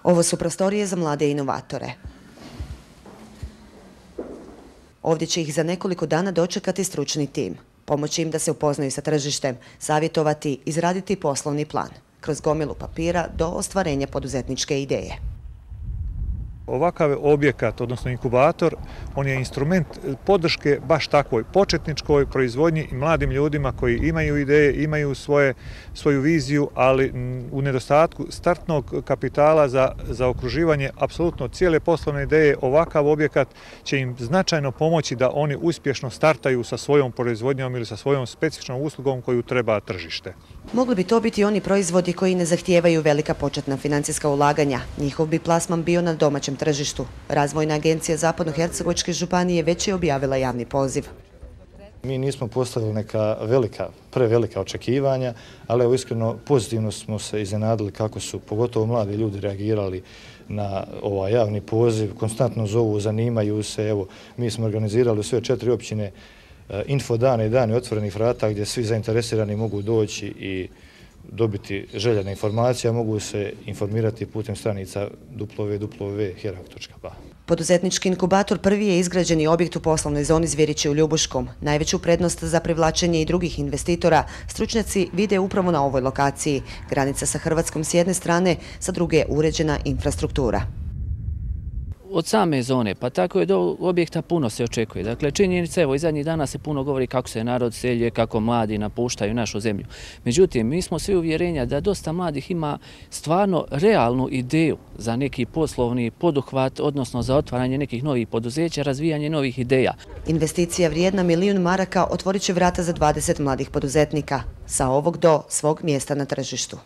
Ovo su prostorije za mlade inovatore. Ovdje će ih za nekoliko dana dočekati stručni tim. Pomoći im da se upoznaju sa tržištem, savjetovati, izraditi poslovni plan, kroz gomilu papira do ostvarenja poduzetničke ideje. Ovakav objekat, odnosno inkubator, on je instrument podrške baš takvoj početničkoj proizvodnji i mladim ljudima koji imaju ideje, imaju svoju viziju, ali u nedostatku startnog kapitala za okruživanje apsolutno cijele poslovne ideje, ovakav objekat će im značajno pomoći da oni uspješno startaju sa svojom proizvodnjom ili sa svojom specifičnom uslugom koju treba tržište. Mogli bi to biti oni proizvodi koji ne zahtijevaju velika početna financijska ulaganja. Njihov bi plasman bio na domaćem tržištu. Razvojna agencija Zapadnohercegovačke županije već je objavila javni poziv. Mi nismo postavili neka prevelika očekivanja, ali evo iskreno pozitivno smo se iznenadili kako su pogotovo mladi ljudi reagirali na ovaj javni poziv, konstantno zovu, zanimaju se. Evo, mi smo organizirali u sve 4 općine infodane i dane otvorenih vrata gdje svi zainteresirani mogu doći i dobiti željene informacije, mogu se informirati putem stranica www.herak.ba. Poduzetnički inkubator prvi je izgrađeni objekt u poslovnoj zoni Zvjerići u Ljubuškom. Najveću prednost za privlačenje i drugih investitora stručnjaci vide upravo na ovoj lokaciji. Granica sa Hrvatskom s jedne strane, sa druge uređena infrastruktura. Od same zone, pa tako je do objekta puno se očekuje. Dakle, činjenica, evo, i zadnjih dana se puno govori kako se narod selje, kako mladi napuštaju našu zemlju. Međutim, mi smo svi uvjerenja da dosta mladih ima stvarno realnu ideju za neki poslovni poduhvat, odnosno za otvaranje nekih novih poduzeća, razvijanje novih ideja. Investicija vrijedna $1 milion otvorit će vrata za 20 mladih poduzetnika, sa ovog do svog mjesta na tržištu.